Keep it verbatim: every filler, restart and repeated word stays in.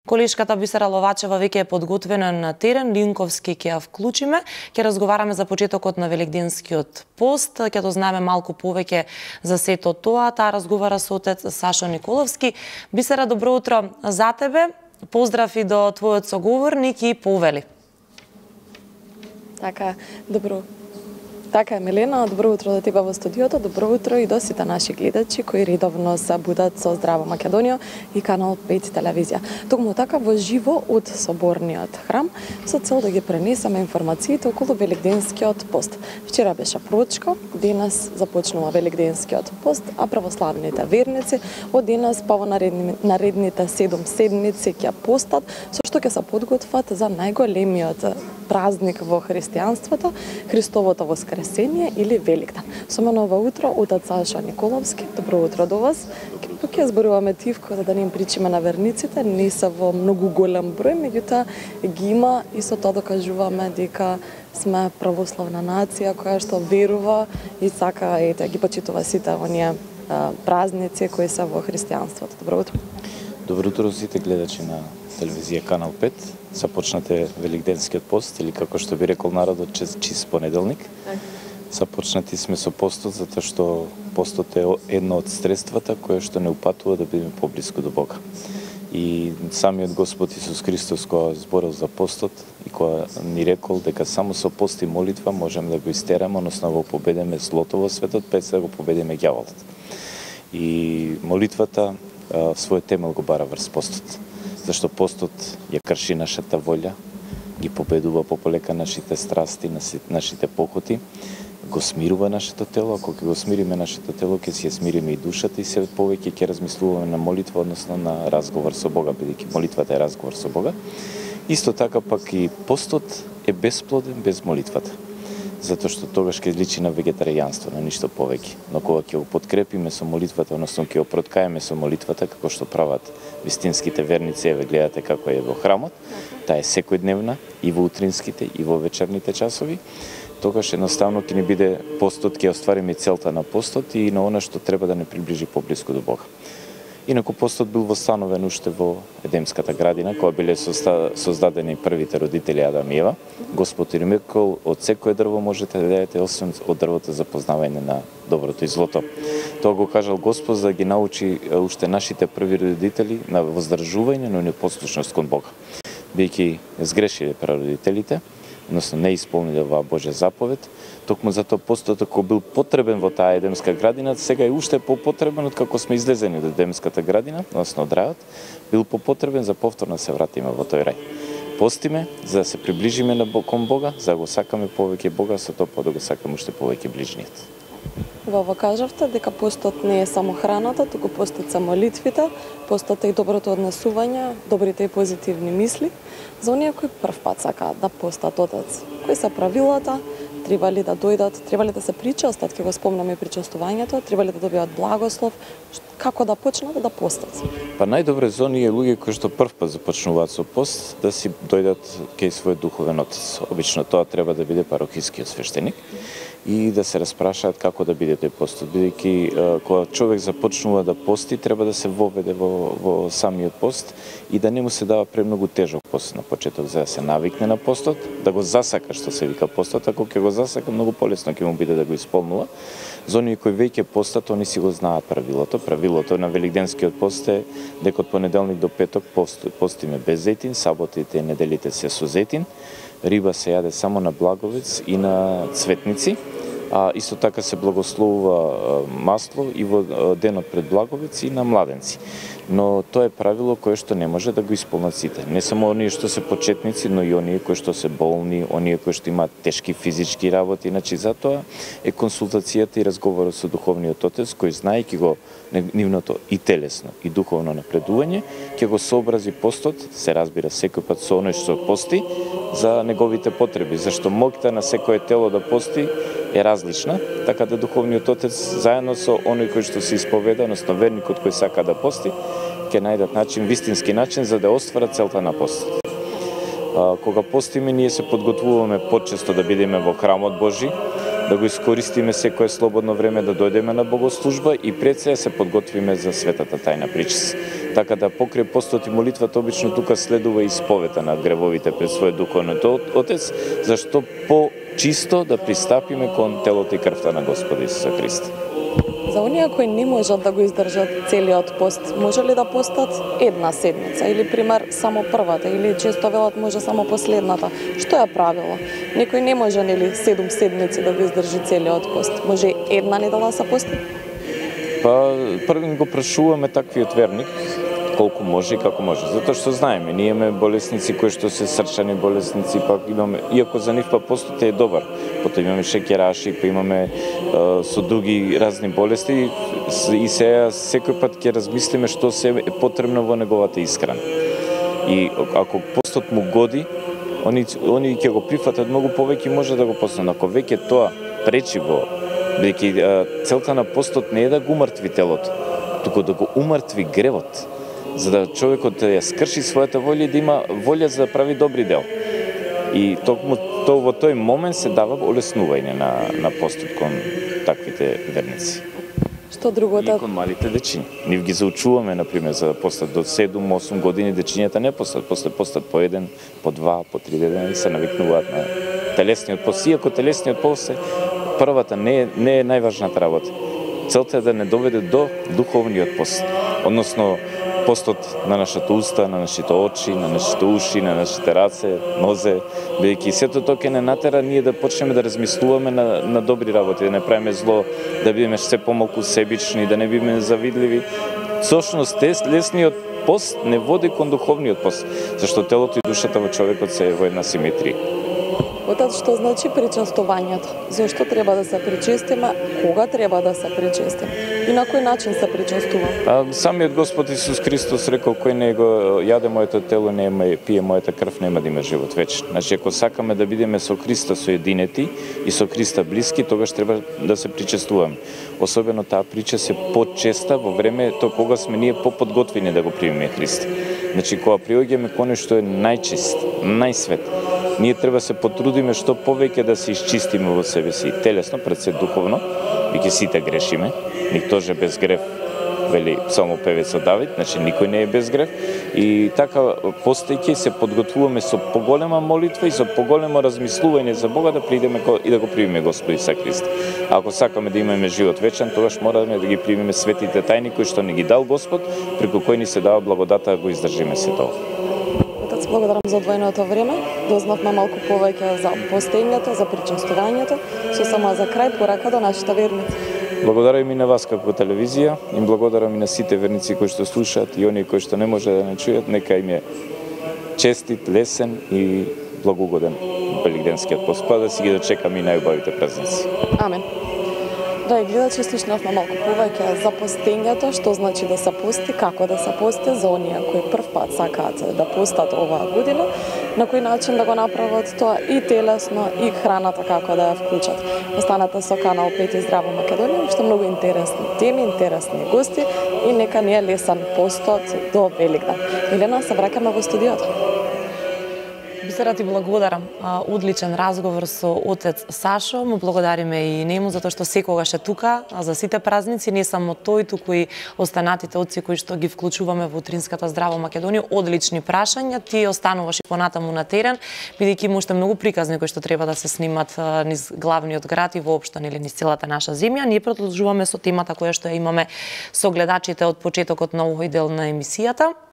Колешката Бисера Ловачева веќе е подготвена на терен, Линковски ќе ја вклучиме. Ќе разговараме за почетокот на Великденскиот пост, ќе дознаеме малку повеќе за сето тоа. Таа разговара со отец Сашо Николовски. Бисера, добро утро за тебе. Поздрав и до твојот соговорник и повели. Така, добро. Така е, Милена, добро утро до тебе во студиото, добро утро и до сите наши гледачи кои редовно се будат со Здрава Македонија и Канал пет телевизија. Токму така во живо од соборниот храм со цел да ги пренесеме информациите околу Великденскиот пост. Вчера беше прочка, денес започнува Великденскиот пост, а православните верници од денес па во наредни, наредните седум седмици ќе постат, со што ќе се подготват за најголемиот празник во христијанството, Христовото воскресение или Великден. Со мене ова утро отец Сашо Николовски. Добро утро до вас. Тук ќе зборуваме тивко за да не им причиме на верниците, не се во многу голем број, меѓутоа ги има и со тоа докажуваме дека сме православна нација која што верува и сака ете ги почитува сите оние празници кои се во христијанството. Добро утро. Добро утро сите гледачи на телевизија Канал пет. Започнате Великденскиот пост или како што би рекол народот чист понеделник. Започнати сме со постот затоа што постот е едно од средствата кое што не упатува да бидеме поблиску до Бога. И самиот Господ Исус Христос кога зборил за постот и кога ни рекол дека само со пост и молитва можеме да го истераме, односно да го победиме злото во светот, пред да го победиме ѓаволот. И молитвата својот темел го бара врз постот. Зашто постот ја крши нашата волја, ги победува пополека нашите страсти, нашите похоти, го смирува нашето тело, ако ќе го смириме нашето тело, ќе си ја смириме и душата и се повеќе ќе размислуваме на молитва, односно на разговор со Бога, бидејќи молитвата е разговор со Бога. Исто така пак и постот е бесплоден без молитвата. Затоа што тогаш ќе личи на вегетаријанство, на ништо повеќе. Но кога ќе го подкрепиме со молитвата, односно ќе го проткаеме со молитвата, како што прават вистинските верници, еве гледате како е во храмот, таа е секојдневна и во утринските и во вечерните часови, тогаш едноставно ќе ни биде постот, ќе оствариме целта на постот и на она што треба да не приближи поблиску до Бога. Инаку постот бил востановен уште во Едемската градина, кога биле создадени првите родители Адам и Ева. Господ им рекол, од секое дрво можете да јадете, освен од дрвото за познавање на доброто и злото. Тоа го кажал Господ за да ги научи уште нашите први родители на воздржување, но непослушност кон Бога. Бидејќи сгрешиле прародителите, односно не исполниле оваа Божја заповед, токму затоа постот ако бил потребен во таа Едемска градина, сега е уште попотребен од како сме излезени од Едемската градина, односно од рајот, бил попотребен за повторно се вратиме во тој рај. Постиме за да се приближиме на кон Бога, за да го сакаме повеќе Бога, со тоа па да го сакаме уште повеќе ближниот. Вова кажавте дека постот не е само храната, туку постот се молитвите, постот е и доброто однесување, добрите и позитивни мисли. За оние кои прв пат сакаат да постат, отец, кои се правилата, треба ли да дојдат, треба ли да се причастат, ќе го спомнаме причестувањето, треба ли да добијат благослов, како да почнат да постат? Па најдобре за оние луѓе кои што прв пат започнуваат со пост, да си дојдат кај својот духовен отец. Обично тоа треба да биде парохискиот свештеник и да се распрашаат како да биде тој постот, бидејќи кога човек започнува да пости, треба да се воведе во, во самиот пост и да не му се дава премногу тежок пост на почеток, за да се навикне на постот, да го засака што се вика постот, ако ќе го засака, многу полесно ќе му биде да го исполнува. За оние кои веќе постат, они си го знаат правилото. Правилото на Великденскиот пост е дека од понеделник до петок пост, постиме без зетин, саботите и неделите се со зетин, риба се јаде само на благовец и на цветници, а исто така се благословува масло и во денот пред благовец и на младенци. Но тоа е правило кое што не може да го исполнат сите. Не само оние што се почетници, но и оние кои што се болни, оние кои што имаат тешки физички работи. Значи затоа е консултацијата и разговорот со духовниот отец кој знаејќи го нивното и телесно и духовно напредување, ќе го сообрази постот, се разбира секој пат со оној што пости за неговите потреби, зашто моќта на секое тело да пости е различна, така да духовниот отец заедно со оној кој што се исповеда, односно верникот кој сака да пости, ќе најдат начин, вистински начин за да остварат целта на постот. Кога постиме, ние се подготвуваме почесто да бидеме во храмот Божи, да го искористиме секое слободно време да дојдеме на богослужба и пред се се подготвиме за светата тајна причест. Така да покрај постот и молитвата обично тука следува исповета на гревовите пред својот духовен Отец, зашто по-чисто да пристапиме кон телото и крвта на Господа Исуса Христа. За оние кои не можат да го издржат целиот пост, може ли да постат една седмица или пример само првата или често велат може само последната? Што е правило? Некој не може нели седум седмици да го издржи целиот пост. Може една недела се пости? Па прво го прашуваме таквиот верник колку може и како може. Затоа што знаеме, ние имаме болесници кои што се срчани болесници, пак имаме, иако за нив па постот е добар. Потоа имаме шеќераши, па имаме е, со други разни болести и сега секој пат ќе размислиме што се е потребно во неговата исхрана. И ако постот му годи, они они ќе го прифатат многу повеќе и може да го постат. Ако веќе тоа пречи во бидејќи целта на постот не е да го умртви телото, туку да го умртви гревот, за да човекот да ја скрши својата волја и да има волја за да прави добри дел. И токму то во тој момент се дава олеснување на на постот кон таквите верници. Што другото? И кон малите дечиња. Нив ги заучуваме на пример за да постат до седум-осум години, дечињата не постат, после постат по еден, по два, по три дена и се навикнуваат на телесниот пост. Иако телесниот пост е првата не е не е најважната работа. Целта е да не доведе до духовниот пост, односно постот на нашата уста, на нашите очи, на нашите уши, на нашите раце, нозе, бидејќи сето тоа ќе не натера ние да почнеме да размислуваме на, на добри работи, да не правиме зло, да бидеме се помалку себични, да не бидеме завидливи. Всушност, телесниот пост не води кон духовниот пост, зашто телото и душата во човекот се во една симетрија. Отец, што значи причестувањето? Зошто треба да се причестиме? Кога треба да се причестиме? И на кој начин се причестуваме? А, самиот Господ Исус Христос рекол, кој не го јаде моето тело, не ме пие мојата крв, нема да има живот вечен. Значи, ако сакаме да бидеме со Христа соединети и со Христа блиски, тогаш треба да се причестуваме. Особено таа прича се почеста во времето кога сме ние поподготвени да го примиме Христа. Значи, кога приоѓаме кон што е најчист, најсвет, ние треба да се потрудиме што повеќе да се исчистиме во себе си, телесно, пред се духовно, бидејќи сите грешиме, никто же без грев, вели псалмопевецот Давид, значи никој не е без грев, и така постојќи се подготвуваме со поголема молитва и со поголемо размислување за Бога да придеме и да го примиме Господ Исус Христ. Ако сакаме да имаме живот вечен, тогаш мораме да ги примиме светите тајни кои што ни ги дал Господ, преку кои ни се дава благодата да го издржиме се тоа. Отец, благодарам за одвоеното време. Дознавме малку повеќе за постењето, за причестувањето. Со само за крај порака до нашите верници. Благодарам и на вас како телевизија, и благодарам и на сите верници кои што слушаат и оние кои што не може да не чујат, нека им е честит, лесен и благогоден великденскиот пост, па да си ги дочекаме и најубавите празници. Амен. Драги гледачи, слушнавме малку повеќе за постењето, што значи да се пости, како да се пости за оние кои прв пат сакаат да постат оваа година, на кој начин да го направат тоа и телесно, и храната како да ја вклучат. Останете со Канал пет и Здраво Македонија, уште многу интересни теми, интересни гости и нека ни е лесен постот до Великден. Елена, се враќаме во студиото. Бисера, ти благодарам. Одличен разговор со отец Сашо. Му благодариме и нему затоа што секогаш е тука за сите празници, не само тој, туку и останатите отци кои што ги вклучуваме во утринската Здраво Македонија. Одлични прашања. Ти остануваш и понатаму на терен, бидејќи има уште многу приказни кои што треба да се снимат низ главниот град и воопшто нели низ целата наша земја. Ние продолжуваме со темата која што ја имаме со гледачите од почетокот на овој дел на емисијата.